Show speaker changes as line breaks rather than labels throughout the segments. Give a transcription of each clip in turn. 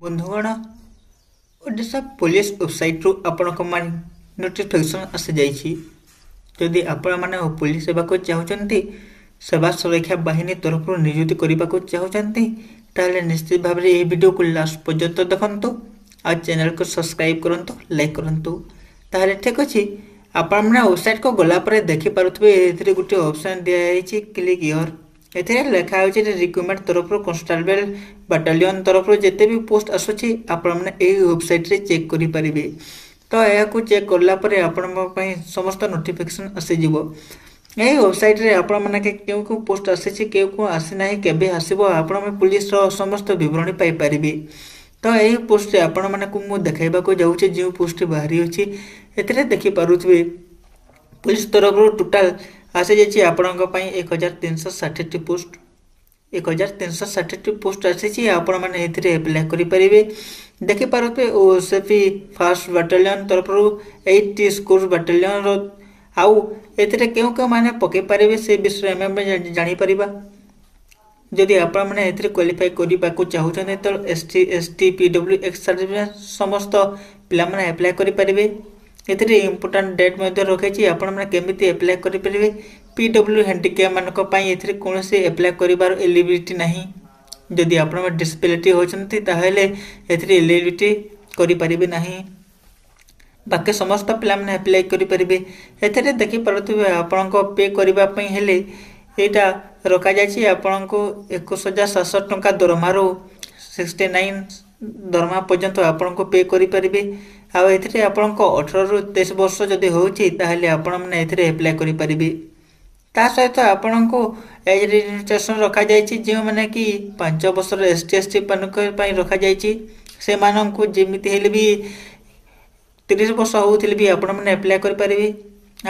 ବନ୍ଧୁଗଣ, ଓଡ଼ିଶା ପୋଲିସ ୱେବସାଇଟ୍ରୁ ଆପଣଙ୍କ ପାଇଁ ନୋଟିଫିକେସନ୍ ଆସିଯାଇଛି। ଯଦି ଆପଣମାନେ ପୋଲିସ ହେବାକୁ ଚାହୁଁଛନ୍ତି, ସେବା ସୁରକ୍ଷା ବାହିନୀ ତରଫରୁ ନିଯୁକ୍ତି କରିବାକୁ ଚାହୁଁଛନ୍ତି, ତାହେଲେ ନିଶ୍ଚିତ ଭାବରେ ଏହି ଭିଡ଼ିଓକୁ ଲାଷ୍ଟ ପର୍ଯ୍ୟନ୍ତ ଦେଖନ୍ତୁ ଆଉ ଚ୍ୟାନେଲକୁ ସବସ୍କ୍ରାଇବ୍ କରନ୍ତୁ, ଲାଇକ୍ କରନ୍ତୁ। ତାହେଲେ ଠିକ୍ ଅଛି, ଆପଣମାନେ ୱେବସାଇଟ୍କୁ ଗଲା ପରେ ଦେଖିପାରୁଥିବେ, ଏଥିରେ ଗୋଟିଏ ଅପସନ୍ ଦିଆଯାଇଛି, କ୍ଲିକ୍ here. ଏଥିରେ ଲେଖା ହେଉଛି ରିକ୍ରୁଟମେଣ୍ଟ ତରଫରୁ କନଷ୍ଟେବଲ ବାଟାଲିୟନ ତରଫରୁ ଯେତେ ବି ପୋଷ୍ଟ ଆସୁଛି, ଆପଣମାନେ ଏହି ୱେବସାଇଟ୍ରେ ଚେକ୍ କରିପାରିବେ। ତ ଏହାକୁ ଚେକ୍ କଲା ପରେ ଆପଣଙ୍କ ପାଇଁ ସମସ୍ତ ନୋଟିଫିକେସନ୍ ଆସିଯିବ। ଏହି ୱେବସାଇଟ୍ରେ ଆପଣମାନେ କେଉଁ କେଉଁ ପୋଷ୍ଟ ଆସିଛି, କେଉଁ କେଉଁ ଆସିନାହିଁ, କେବେ ଆସିବ, ଆପଣମାନେ ପୁଲିସର ସମସ୍ତ ବିବରଣୀ ପାଇପାରିବେ। ତ ଏହି ପୋଷ୍ଟରେ ଆପଣମାନଙ୍କୁ ମୁଁ ଦେଖାଇବାକୁ ଯାଉଛି, ଯେଉଁ ପୋଷ୍ଟଟି ବାହାରି ଅଛି। ଏଥିରେ ଦେଖିପାରୁଥିବେ, ପୁଲିସ ତରଫରୁ ଟୋଟାଲ ଆସିଯାଇଛି ଆପଣଙ୍କ ପାଇଁ 1360ଟି ପୋଷ୍ଟ। 1360ଟି ପୋଷ୍ଟ ଆସିଛି, ଆପଣମାନେ ଏଥିରେ ଆପ୍ଲାଏ କରିପାରିବେ। ଦେଖିପାରୁଥିବେ, ଓ ଏସ୍ ପି ଫାର୍ଷ୍ଟ ବାଟାଲିୟନ ତରଫରୁ 8ଟି ସ୍କୋର ବାଟାଲିୟନର। ଆଉ ଏଥିରେ କେଉଁ କେଉଁମାନେ ପକାଇ ପାରିବେ, ସେ ବିଷୟରେ ଆମେ ଜାଣିପାରିବା। ଯଦି ଆପଣମାନେ ଏଥିରେ କ୍ୱାଲିଫାଏ କରିବାକୁ ଚାହୁଁଛନ୍ତି, ତ SC, ST, PW, X certificate ସମସ୍ତ ପିଲାମାନେ ଆପ୍ଲାଏ କରିପାରିବେ। ଏଥିରେ ଇମ୍ପୋର୍ଟାଣ୍ଟ ଡେଟ୍ ମଧ୍ୟ ରଖିଛି, ଆପଣମାନେ କେମିତି ଆପ୍ଲାଏ କରିପାରିବେ। ପି ଡବ୍ଲ୍ୟୁ ହ୍ୟାଣ୍ଡିକ୍ୟାପ୍ ମାନଙ୍କ ପାଇଁ ଏଥିରେ କୌଣସି ଆପ୍ଲାଏ କରିବାର ଏଲିଜିବିଲିଟି ନାହିଁ। ଯଦି ଆପଣମାନେ ଡିସବିଲିଟି ହେଉଛନ୍ତି, ତାହେଲେ ଏଥିରେ ଏଲିଜିବିଲିଟି କରିପାରିବେ ନାହିଁ। ବାକି ସମସ୍ତ ପିଲାମାନେ ଆପ୍ଲାଏ କରିପାରିବେ। ଏଥିରେ ଦେଖିପାରୁଥିବେ, ଆପଣଙ୍କ ପେ କରିବା ପାଇଁ ହେଲେ ଏଇଟା ରଖାଯାଇଛି। ଆପଣଙ୍କୁ 21,700 ଟଙ୍କା ଦରମାରୁ 69 ଦରମା ପର୍ଯ୍ୟନ୍ତ ଆପଣଙ୍କୁ ପେ କରିପାରିବେ। ଆଉ ଏଥିରେ ଆପଣଙ୍କ 18ରୁ 23 ବର୍ଷ ଯଦି ହେଉଛି, ତାହେଲେ ଆପଣମାନେ ଏଥିରେ ଆପ୍ଲାଏ କରିପାରିବେ। ତା ସହିତ ଆପଣଙ୍କୁ ଏଜ୍ ଲିମିଟେସନ୍ ରଖାଯାଇଛି, ଯେଉଁମାନେ କି 5 ବର୍ଷର ଏସ୍ ସି, ଏସ୍ ଟି ମାନଙ୍କ ପାଇଁ ରଖାଯାଇଛି। ସେମାନଙ୍କୁ ଯେମିତି ହେଲେ ବି 30 ବର୍ଷ ହେଉଥିଲେ ବି ଆପଣମାନେ ଆପ୍ଲାଏ କରିପାରିବେ।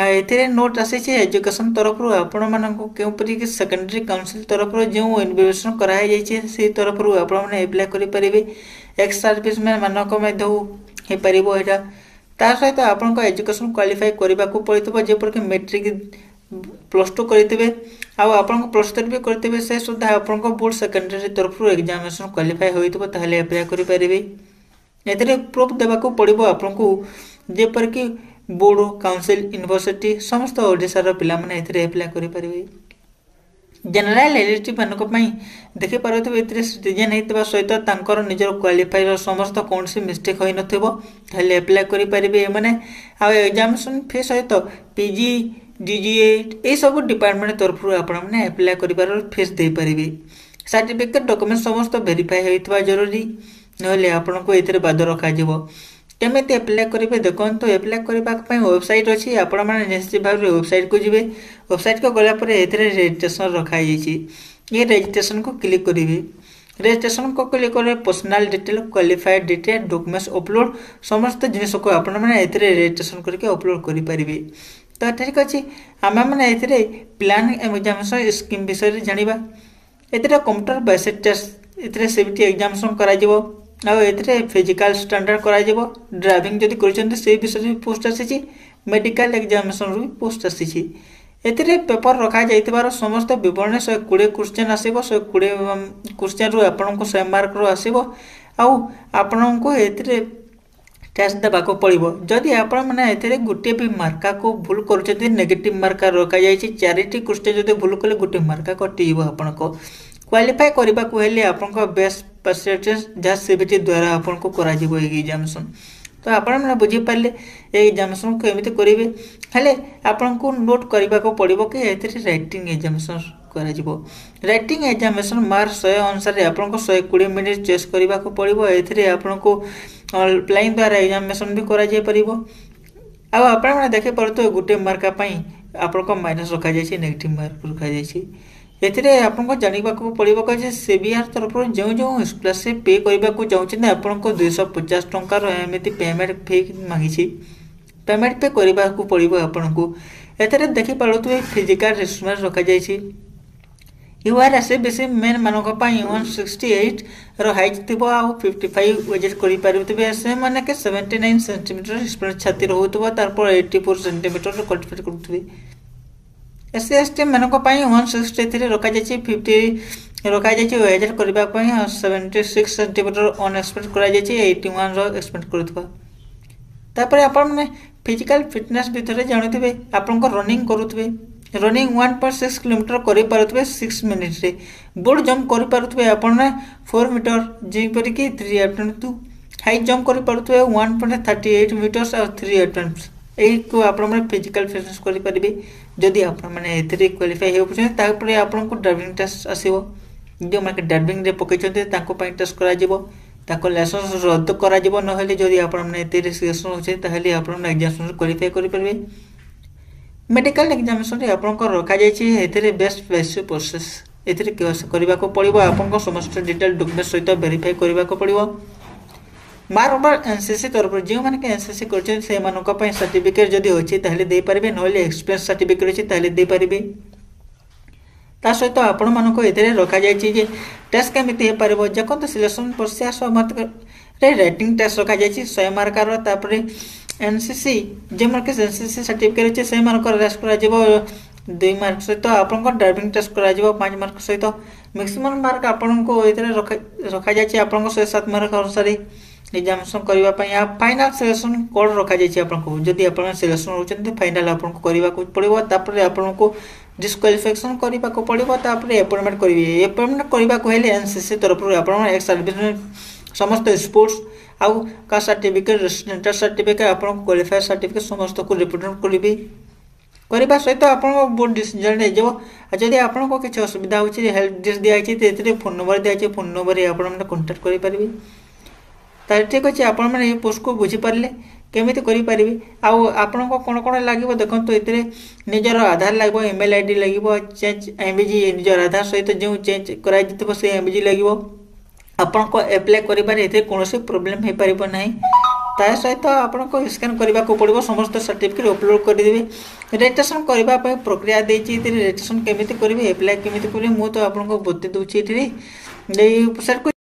ଆଉ ଏଥିରେ ନୋଟ୍ ଆସିଛି ଏଜୁକେସନ୍ ତରଫରୁ ଆପଣମାନଙ୍କୁ, କେଉଁପରି କି ସେକେଣ୍ଡାରୀ କାଉନସିଲ୍ ତରଫରୁ ଯେଉଁ ଇନଭିଟେସନ୍ କରାହେଇଯାଇଛି, ସେଇ ତରଫରୁ ଆପଣମାନେ ଆପ୍ଲାଏ କରିପାରିବେ। ଏକ୍ସ ସର୍ଭିସମ୍ୟାନ୍ ମାନଙ୍କ ମଧ୍ୟ ହେଇପାରିବ ଏଇଟା। ତା ସହିତ ଆପଣଙ୍କ ଏଜୁକେସନ୍ କ୍ୱାଲିଫାଏ କରିବାକୁ ପଡ଼ିଥିବ, ଯେପରିକି ମେଟ୍ରିକ୍, +2 କରିଥିବେ ଆଉ ଆପଣଙ୍କ +3 ବି କରିଥିବେ, ସେ ସୁଦ୍ଧା ଆପଣଙ୍କ ବୋର୍ଡ଼ ସେକେଣ୍ଡାରୀ ତରଫରୁ ଏକ୍ଜାମିନେସନ୍ କ୍ୱାଲିଫାଏ ହୋଇଥିବ, ତାହେଲେ ଆପ୍ଲାଏ କରିପାରିବେ। ଏଥିରେ ପ୍ରୁଫ୍ ଦେବାକୁ ପଡ଼ିବ ଆପଣଙ୍କୁ, ଯେପରିକି ବୋର୍ଡ଼, କାଉନସିଲ୍, ୟୁନିଭର୍ସିଟି। ସମସ୍ତ ଓଡ଼ିଶାର ପିଲାମାନେ ଏଥିରେ ଆପ୍ଲାଏ କରିପାରିବେ। ଜେନେରାଲ ଏଲିଜିବିଲିଟି ମାନଙ୍କ ପାଇଁ ଦେଖିପାରୁଥିବେ, ଏଥିରେ ସିଟିଜେନ୍ ହେଇଥିବା ସହିତ ତାଙ୍କର ନିଜର କ୍ୱାଲିଫାଇର ସମସ୍ତ କୌଣସି ମିଷ୍ଟେକ୍ ହୋଇନଥିବ, ତାହେଲେ ଆପ୍ଲାଏ କରିପାରିବେ ଏମାନେ। ଆଉ ଏକ୍ଜାମିନେସନ୍ ଫି ସହିତ ପିଜି, ଡିଜିଏ ଏଇସବୁ ଡିପାର୍ଟମେଣ୍ଟ ତରଫରୁ ଆପଣମାନେ ଆପ୍ଲାଏ କରିବାର ଫିସ୍ ଦେଇପାରିବେ। ସାର୍ଟିଫିକେଟ୍ ଡକୁମେଣ୍ଟ ସମସ୍ତ ଭେରିଫାଏ ହୋଇଥିବା ଜରୁରୀ, ନହେଲେ ଆପଣଙ୍କୁ ଏଥିରେ ବାଦ ରଖାଯିବ। କେମିତି ଆପ୍ଲାଏ କରିବେ ଦେଖନ୍ତୁ। ଆପ୍ଲାଏ କରିବା ପାଇଁ ୱେବସାଇଟ୍ ଅଛି। ଆପଣମାନେ ନିଶ୍ଚିତ ଭାବରେ ୱେବସାଇଟ୍କୁ ଯିବେ। ୱେବସାଇଟ୍କୁ ଗଲା ପରେ ଏଥିରେ ରେଜିଷ୍ଟ୍ରେସନ୍ ରଖାଯାଇଛି। ଏ ରେଜିଷ୍ଟ୍ରେସନ୍କୁ କ୍ଲିକ୍ କରିବେ। ରେଜିଷ୍ଟ୍ରେସନ୍କୁ କ୍ଲିକ୍ କଲେ personal detail, qualified detail, documents upload, ସମସ୍ତ ଜିନିଷକୁ ଆପଣମାନେ ଏଥିରେ ରେଜିଷ୍ଟ୍ରେସନ୍ କରିକି ଅପଲୋଡ଼ କରିପାରିବେ। ତ ଠିକ୍ ଅଛି, ଆମେମାନେ ଏଥିରେ ପ୍ଲାନ୍ ଏକ୍ଜାମିନେସନ୍ ସ୍କିମ୍ ବିଷୟରେ ଜାଣିବା। ଏଥିରେ କମ୍ପ୍ୟୁଟର ବେସିକ୍ ଟେଷ୍ଟ, ଏଥିରେ ସିବିଟି ଏକ୍ଜାମିନେସନ୍ କରାଯିବ। ଆଉ ଏଥିରେ ଫିଜିକାଲ ଷ୍ଟାଣ୍ଡାର୍ଡ଼ କରାଯିବ। ଡ୍ରାଇଭିଂ ଯଦି କରିଛନ୍ତି, ସେଇ ବିଷୟରେ ବି ପୋଷ୍ଟ ଆସିଛି। ମେଡ଼ିକାଲ ଏକ୍ଜାମିନେସନ୍ରୁ ବି ପୋଷ୍ଟ ଆସିଛି। ଏଥିରେ ପେପର ରଖାଯାଇଥିବାର ସମସ୍ତ ବିବରଣୀ, 120 କ୍ୱେଶ୍ଚନ୍ ଆସିବ। 120 କ୍ୱେଶ୍ଚନ୍ରୁ ଆପଣଙ୍କୁ 100 ମାର୍କର ଆସିବ ଆଉ ଆପଣଙ୍କୁ ଏଥିରେ ଟେଷ୍ଟ ଦେବାକୁ ପଡ଼ିବ। ଯଦି ଆପଣମାନେ ଏଥିରେ ଗୋଟିଏ ବି ମାର୍କାକୁ ଭୁଲ କରୁଛନ୍ତି, ନେଗେଟିଭ୍ ମାର୍କା ରଖାଯାଇଛି। ଚାରିଟି କ୍ୱେଶ୍ଚନ୍ ଯଦି ଭୁଲ କଲେ, ଗୋଟିଏ ମାର୍କା କଟିଯିବ। ଆପଣଙ୍କ କ୍ୱାଲିଫାଏ କରିବାକୁ ହେଲେ ଆପଣଙ୍କ ବେଷ୍ଟ ପରସେଣ୍ଟେଜ୍, ଯାହା ସିବିଟି ଦ୍ୱାରା ଆପଣଙ୍କୁ କରାଯିବ ଏଇ ଏକ୍ଜାମିନେସନ୍। ତ ଆପଣମାନେ ବୁଝିପାରିଲେ ଏ ଏକ୍ଜାମିନେସନ୍ କେମିତି କରିବେ। ହେଲେ ଆପଣଙ୍କୁ ନୋଟ୍ କରିବାକୁ ପଡ଼ିବ କି ଏଥିରେ ରାଇଟିଂ ଏକ୍ଜାମିନେସନ୍ କରାଯିବ। ରାଇଟିଂ ଏକ୍ଜାମିନେସନ୍ ମାର୍କ 100 ଅନୁସାରେ ଆପଣଙ୍କୁ 120 ମିନିଟ୍ ଚଏସ୍ କରିବାକୁ ପଡ଼ିବ। ଏଥିରେ ଆପଣଙ୍କୁ ଅନଲାଇନ୍ ଦ୍ୱାରା ଏକ୍ଜାମିନେସନ୍ ବି କରାଯାଇପାରିବ। ଆଉ ଆପଣମାନେ ଦେଖିପାରୁଥିବେ, ଗୋଟିଏ ମାର୍କା ପାଇଁ ଆପଣଙ୍କ ମାଇନସ୍ ରଖାଯାଇଛି, ନେଗେଟିଭ୍ ମାର୍କ ରଖାଯାଇଛି। ଏଥିରେ ଆପଣଙ୍କୁ ଜାଣିବାକୁ ପଡ଼ିବ ଯେ ସିବିଆର୍ ତରଫରୁ ଯେଉଁ ଯେଉଁ ସ୍କଲାରସିପ୍ ପେ କରିବାକୁ ଚାହୁଁଛନ୍ତି, ଆପଣଙ୍କୁ 250 ଟଙ୍କାର ଏମିତି ପେମେଣ୍ଟ ଫି ମାଗିଛି। ପେମେଣ୍ଟ ପେ କରିବାକୁ ପଡ଼ିବ ଆପଣଙ୍କୁ। ଏଥିରେ ଦେଖିପାରୁଥିବେ, ଫିଜିକାଲ ରିକ୍ୱାରମେଣ୍ଟ ରଖାଯାଇଛି। ୟୁଆର୍, ଏସ୍ ବି ସି ମେନ୍ମାନଙ୍କ ପାଇଁ 168ର ହାଇଟ୍ ଥିବ ଆଉ 55 ୱେଜେଟ୍ କରିପାରୁଥିବେ ସେମାନେ କି 79 ସେଣ୍ଟିମିଟର ଛାତି ରହୁଥିବ, ତାରପରେ 84 ସେଣ୍ଟିମିଟର କ୍ୱାଲିଫାଇ କରୁଥିବେ। ଏସ୍ ସି, ଏସ୍ ଟି ମାନଙ୍କ ପାଇଁ 163 ରଖାଯାଇଛି, 50 ରଖାଯାଇଛି ୱେଜ୍ କରିବା ପାଇଁ 76 ସେଣ୍ଟିମିଟର ଅନଏକ୍ସପେକ୍ଟ କରାଯାଇଛି, 81ର ଏକ୍ସପେକ୍ଟ କରୁଥିବା। ତାପରେ ଆପଣମାନେ ଫିଜିକାଲ୍ ଫିଟନେସ୍ ଭିତରେ ଜାଣୁଥିବେ, ଆପଣଙ୍କ ରନିଂ କରୁଥିବେ, ରନିଂ 1.6 କିଲୋମିଟର କରିପାରୁଥିବେ 6 ମିନିଟ୍ରେ, ବ୍ରଡ୍ ଜମ୍ପ କରିପାରୁଥିବେ ଆପଣ 4 ମିଟର, ଯେପରିକି 3 ଆଟେମ୍ପ୍ଟ, ହାଇ ଜମ୍ପ କରିପାରୁଥିବେ 1.38 ମିଟର୍ସ ଆଉ 3 ଆଟେମ୍ପ୍ଟ। ଏଇକୁ ଆପଣମାନେ ଫିଜିକାଲ୍ ଫିଟନେସ୍ କରିପାରିବେ। ଯଦି ଆପଣମାନେ ଏଥିରେ କ୍ୱାଲିଫାଇ ହେଉଛନ୍ତି, ତାପରେ ଆପଣଙ୍କୁ ଡ୍ରାଇଭିଂ ଟେଷ୍ଟ ଆସିବ। ଯେଉଁମାନେ ଡ୍ରାଇଭିଂରେ ପକାଇଛନ୍ତି, ତାଙ୍କ ପାଇଁ ଟେଷ୍ଟ କରାଯିବ, ତାଙ୍କ ଲାଇସେନ୍ସ ରଦ୍ଦ କରାଯିବ। ନହେଲେ ଯଦି ଆପଣମାନେ ଏଥିରେ ସିଲେକ୍ସନ୍ ହେଉଛନ୍ତି, ତାହେଲେ ଆପଣମାନେ ଏକ୍ଜାମିନେସନ୍ କ୍ୱାଲିଫାଇ କରିପାରିବେ। ମେଡ଼ିକାଲ ଏକ୍ଜାମିନେସନ୍ରେ ଆପଣଙ୍କର ରଖାଯାଇଛି ଏଥିରେ ବେଷ୍ଟ ବେସିକ୍ ପ୍ରୋସେସ୍। ଏଥିରେ କରିବାକୁ ପଡ଼ିବ, ଆପଣଙ୍କ ସମସ୍ତ ଡିଟେଲ୍ ଡକୁମେଣ୍ଟ ସହିତ ଭେରିଫାଇ କରିବାକୁ ପଡ଼ିବ। ମାର୍କ ଏନ୍ସିସି ତରଫରୁ ଯେଉଁମାନେ ଏନ୍ସିସି କରିଛନ୍ତି, ସେମାନଙ୍କ ପାଇଁ ସାର୍ଟିଫିକେଟ୍ ଯଦି ଅଛି ତାହେଲେ ଦେଇପାରିବେ, ନହେଲେ ଏକ୍ସପିରିଏନ୍ସ ସାର୍ଟିଫିକେଟ୍ ଅଛି ତାହେଲେ ଦେଇପାରିବେ। ତା ସହିତ ଆପଣମାନଙ୍କୁ ଏଥିରେ ରଖାଯାଇଛି ଯେ ଟେଷ୍ଟ କେମିତି ହେଇପାରିବ। ଦେଖନ୍ତୁ, ସିଲେକ୍ସନ୍ ପ୍ରୋସେସ୍ ରେ ରାଇଟିଂ ଟେଷ୍ଟ ରଖାଯାଇଛି 100 ମାର୍କର। ତାପରେ ଏନ୍ସିସି, ଯେଉଁମାନଙ୍କ ଏନ୍ସିସି ସାର୍ଟିଫିକେଟ୍ ଅଛି, ସେମାନଙ୍କର ଟେଷ୍ଟ କରାଯିବ 2 ମାର୍କ ସହିତ। ଆପଣଙ୍କ ଡ୍ରାଇଭିଂ ଟେଷ୍ଟ କରାଯିବ 5 ମାର୍କ ସହିତ। ମ୍ୟାକ୍ସିମମ୍ ମାର୍କ ଆପଣଙ୍କୁ ଏଥିରେ ରଖାଯାଇଛି ଆପଣଙ୍କ 107 ମାର୍କ ଅନୁସାରେ ଏକ୍ଜାମିନେସନ୍ କରିବା ପାଇଁ। ଆଉ ଫାଇନାଲ୍ ସିଲେକ୍ସନ୍ କୋଡ଼ ରଖାଯାଇଛି ଆପଣଙ୍କୁ। ଯଦି ଆପଣ ସିଲେକ୍ସନ୍ ହେଉଛନ୍ତି, ଫାଇନାଲ୍ ଆପଣଙ୍କୁ କରିବାକୁ ପଡ଼ିବ। ତାପରେ ଆପଣଙ୍କୁ ଡିସ୍କ୍ୱାଲିଫିକେସନ୍ କରିବାକୁ ପଡ଼ିବ, ତାପରେ ଆପଏଣ୍ଟମେଣ୍ଟ କରିବେ। ଆପଏଣ୍ଟମେଣ୍ଟ କରିବାକୁ ହେଲେ ଏନ୍ସିସି ତରଫରୁ ଆପଣ ଏକ୍ସ ସର୍ଭିସ୍, ସମସ୍ତ ସ୍ପୋର୍ଟସ୍ ଆଉ କାଷ୍ଟ ସାର୍ଟିଫିକେଟ୍, ରେସିଡେଣ୍ଟାଲ ସାର୍ଟିଫିକେଟ୍, ଆପଣଙ୍କୁ କ୍ୱାଲିଫାଏ ସାର୍ଟିଫିକେଟ୍ ସମସ୍ତଙ୍କୁ ରିପ୍ରେଜେଣ୍ଟ କରିବେ। କରିବା ସହିତ ଆପଣଙ୍କ ବୋର୍ଡ଼ ଡିସିଜନ୍ ହେଇଯିବ। ଆଉ ଯଦି ଆପଣଙ୍କ କିଛି ଅସୁବିଧା ହେଉଛି, ହେଲ୍ପ ଡେସ୍କ ଦିଆହେଇଛି, ଏଥିରେ ଫୋନ୍ ନମ୍ବର ଦିଆହେଇଛି, ଫୋନ୍ ନମ୍ବରରେ ଆପଣମାନେ କଣ୍ଟାକ୍ଟ କରିପାରିବେ। ତାହେଲେ ଠିକ୍ ଅଛି, ଆପଣମାନେ ଏଇ ପୋଷ୍ଟକୁ ବୁଝିପାରିଲେ କେମିତି କରିପାରିବେ ଆଉ ଆପଣଙ୍କ କ'ଣ କ'ଣ ଲାଗିବ। ଦେଖନ୍ତୁ, ଏଥିରେ ନିଜର ଆଧାର ଲାଗିବ, ଇମେଲ୍ ଆଇଡି ଲାଗିବ, ଚେଞ୍ଜ ଏମ୍ବିଜି, ନିଜର ଆଧାର ସହିତ ଯେଉଁ ଚେଞ୍ଜ କରାଯାଇଥିବ ସେ ଏମ୍ବିଜି ଲାଗିବ। ଆପଣଙ୍କ ଆପ୍ଲାଏ କରିବାରେ ଏଥିରେ କୌଣସି ପ୍ରୋବ୍ଲେମ୍ ହେଇପାରିବ ନାହିଁ। ତା ସହିତ ଆପଣଙ୍କୁ ସ୍କାନ୍ କରିବାକୁ ପଡ଼ିବ, ସମସ୍ତ ସାର୍ଟିଫିକେଟ୍ ଅପଲୋଡ଼ କରିଦେବେ। ରେଜିଷ୍ଟ୍ରେସନ୍ କରିବା ପାଇଁ ପ୍ରକ୍ରିୟା ଦେଇଛି ଏଥିରେ। ରେଜିଷ୍ଟ୍ରେସନ୍ କେମିତି କରିବେ, ଆପ୍ଲାଏ କେମିତି କରିବେ, ମୁଁ ତ ଆପଣଙ୍କୁ ବତେଇ ଦେଉଛି ଏଥିରେ। ଏଇ ୱେବସାଇଟ୍କୁ